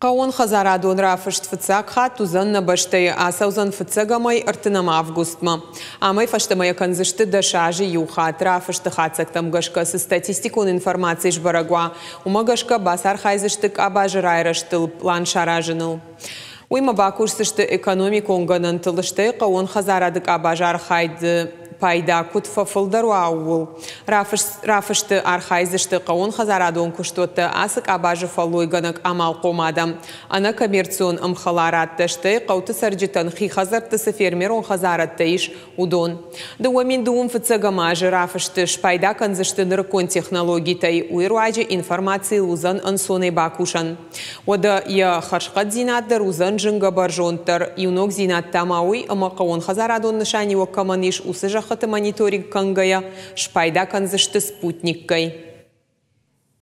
Хъӕууонхӕдзарадон рафыст фыццаг хатт уыдзӕн нӕ бӕстӕйы. Ацӕудзӕн фыццӕгӕмӕй ӕртынӕм августмӕ. Амӕй фӕстӕмӕ йӕ кӕндзысты 10 азы иу хатт. Рафысты хатдзӕгтӕм гӕсгӕ цы статистикон информаци сбӕрӕг уа, уымӕ гӕсгӕ бацархайдзысты къабазы райрӕзтыл пълан саразыныл. Уыимӕ бакусдзысты экономикон гӕнӕнтыл, стӕй хъӕууон хӕдзарады къабазы архайды пайда куыд фӕфылдӕр уа, ууыл. Рафысты архайдзысты хъӕууонхӕдзарадон куыстуӕттӕ, ацы къабазы фӕллойгӕнӕг амалхъом адӕм, ӕнӕкоммерцион ӕмхӕларадтӕ, стӕй хъӕуты цӕрджытӕн хи хӕдзӕртты цы фермерон хӕдзарадтӕ ис, уыдон. 2025 азы рафысты спайда кӕндзысты нырыккон технологитӕй, уый руаджы информацийыл уыдзӕн ӕнцонӕй бакусӕн. Уӕдӕ йӕ хӕрзхъӕддзинад дӕр уыдзӕн зынгӕ бӕрзонддӕр. Иу ногдзинад та ма уый, ӕмӕ хъӕууонхӕдзарадон нысаниуӕг кӕмӕн ис, уыцы зӕххыты мониторинг кӕнгӕйӕ, спайда кӕндзысты спутниккӕй.